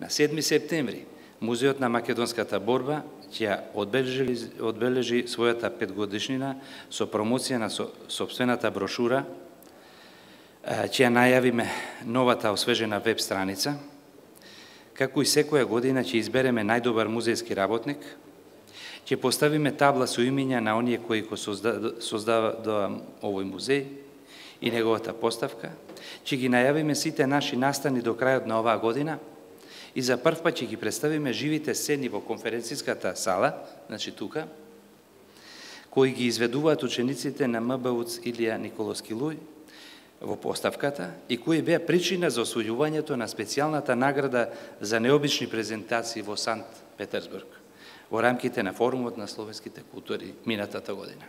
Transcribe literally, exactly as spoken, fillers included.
На седми септември, Музеот на македонската борба ќе одбележи, одбележи својата петгодишнина со промоција на со, собствената брошура, ќе најавиме новата освежена веб страница, како и секоја година ќе избереме најдобар музејски работник, ќе поставиме табла со имиња на оние кои го создава овој музеј и неговата поставка, ќе ги најавиме сите наши настани до крајот на оваа година и за прв пат ќе ги представиме живите сцени во конференциската сала, значи тука, кои ги изведуваат учениците на М Б У Ц Илија Николовски Луј во поставката и кои беа причина за освојувањето на специјалната награда за необични презентации во Санкт Петерсбург во рамките на форумот на словенските култури минатата година.